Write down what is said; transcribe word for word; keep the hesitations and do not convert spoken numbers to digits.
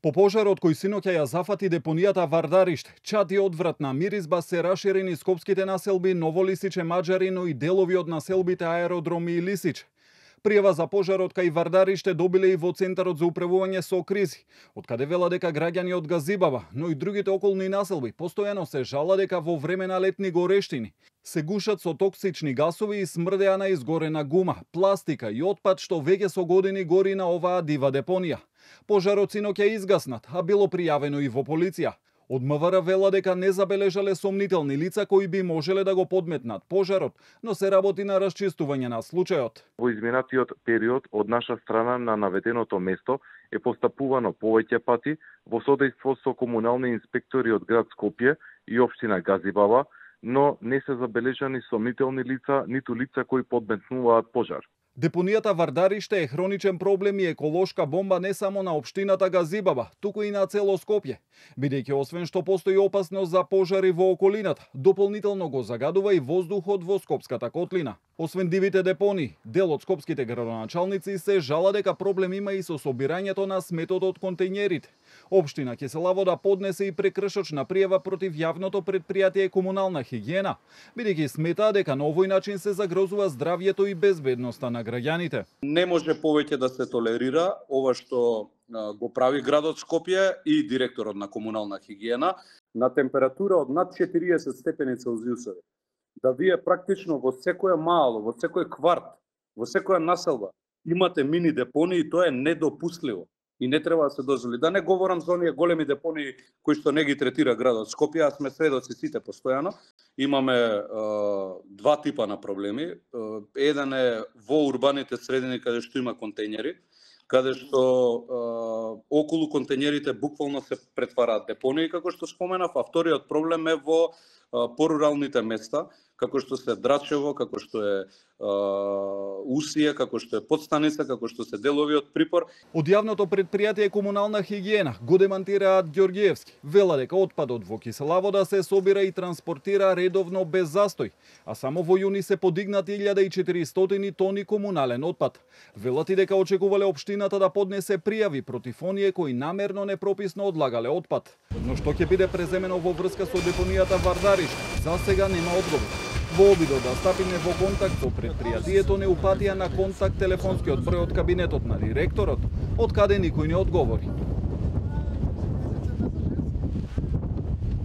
По пожарот кој синоќа ја зафати депонијата Вардариште, чад и одвратна миризба се раширени скопските населби Ново Лисиче, Маџари, но и делови од населбите Аеродроми и Лисиче. Пријава за пожарот кај Вардариште добиле и во Центарот за управување со кризи, од каде вела дека граѓани од Газибаба, но и другите околни населби постојано се жала дека во време на летни горештини се гушат со токсични гасови и смрдеа на изгорена гума, пластика и отпад што веќе со години гори на оваа дива депонија. Пожарот синоќа изгаснат, а било пријавено и во полиција. Од МВР вела дека не забележале сомнителни лица кои би можеле да го подметнат пожарот, но се работи на расчистување на случајот. Во изминатиот период од наша страна на наведеното место е постапувано повеќе пати во содејство со комунални инспектори од град Скопје и општина Газибаба, но не се забележани сомнителни лица, ниту лица кои подметнуваат пожар. Депонијата Вардариште е хроничен проблем и еколошка бомба не само на општината Газибаба, туку и на цело Скопје, бидејќи освен што постои опасност за пожари во околината, дополнително го загадува и воздухот во Скопската котлина. Освен дивите депонии, дел од скопските градоначалници се жала дека проблем има и со собирањето на сметот од контејнерите. Општина Кисела Вода поднесе и прекршочна пријава против јавното претпријатие Комунална хигиена, бидејќи смета дека на овој начин се загрозува здравјето и безбедноста на граѓаните. Не може повеќе да се толерира ова што го прави градот Скопје и директорот на Комунална хигиена на температура од над четириесет степени Целзиусови. Да вие практично во секоја мало, во секој кварт, во секоја населба имате мини депонии, тоа е недопустливо и не треба да се дозволи. Да не говорам за оние големи депонии кои што не ги третира градот Скопје, а сме сведоци сите постојано. Имаме е, два типа на проблеми. Е, еден е во урбаните средини каде што има контејнери, каде што е, околу контејнерите буквално се претвараат депонии, како што споменав, а вториот проблем е во е, поруралните места, како што се Драчево, како што е е Усија, како што е Подстаница, како што се делови од Припор. Од јавното претпријатие Комунална хигиена го демантираат Ѓорѓиевски. Вела дека отпадот во Кисела Вода се собира и транспортира редовно без застој, а само во јуни се подигнати илјада и четиристотини тони комунален отпад. Велат и дека очекувале општината да поднесе пријави против оние кои намерно непрописно одлагале отпад. Но што ќе биде преземено во врска со депонијата Вардариште, за сега нема одговор. Во обидот да стапиме во контакт со претпријатието не упатија на контакт телефонскиот број од кабинетот на директорот, од каде никој не одговори.